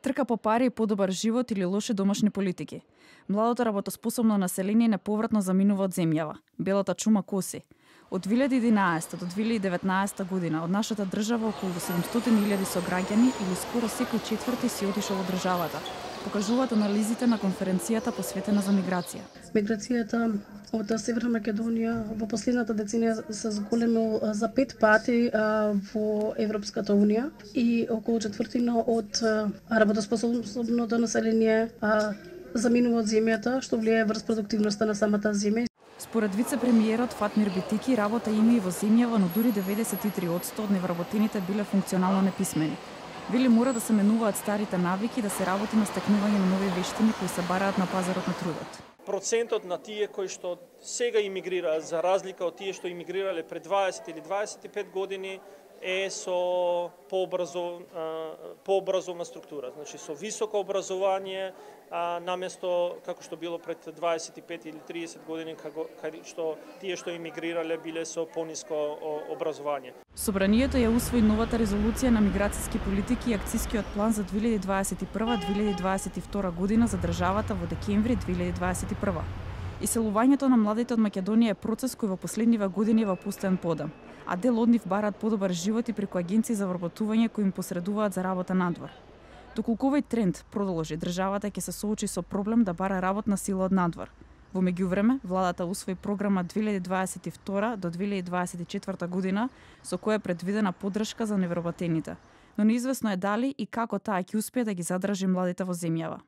Трка по пари и подобар живот или лоши домашни политики. Младото работоспособно население неповратно заминува од земјава. Белата чума коси. Од 2011 до 2019 година од нашата држава околу 700.000 сограѓани или скоро секој четврти си отишол од државата. Покажуваат анализите на конференцијата посветена за миграција. Миграцијата од Северна Македонија во последната деценија се зголемил за 5 пати во Европската унија и околу четвртина од работоспособното население заминува од земјата, што влијае врз продуктивноста на самата земја. Според вице-премиерот Фатмир Битики, работа има и во земјава, но дури 93% од невработените биле функционално неписмени. Вели мора да се менуваат старите навики, да се работи на стекнување на нови вештини кои се бараат на пазарот на трудот. Процентот на тие кои што сега имигрираат, за разлика од тие што имигрирале пред 20 или 25 години, е со пообразовна структура, значи со високо образование, наместо како што било пред 25 или 30 години, каде што тие што имигрирале биле со пониско образование. Собранието ја усвои новата резолуција на миграцијски политики и акцискиот план за 2021-2022 година за државата во декември 2021. Иселувањето на младите од Македонија е процес кој во последниве години е во пустен подам, а дел од нив бараат подобар живот и преку агенции за вработување кои им посредуваат за работа надвор. Доколку овој тренд продолжи, државата ќе се соочи со проблем да бара работна сила од надвор. Во меѓувреме, владата усвои програма 2022 до 2024 година со која е предвидена поддршка за невработените, но неизвестно е дали и како таа ќе успее да ги задржи младите во земјава.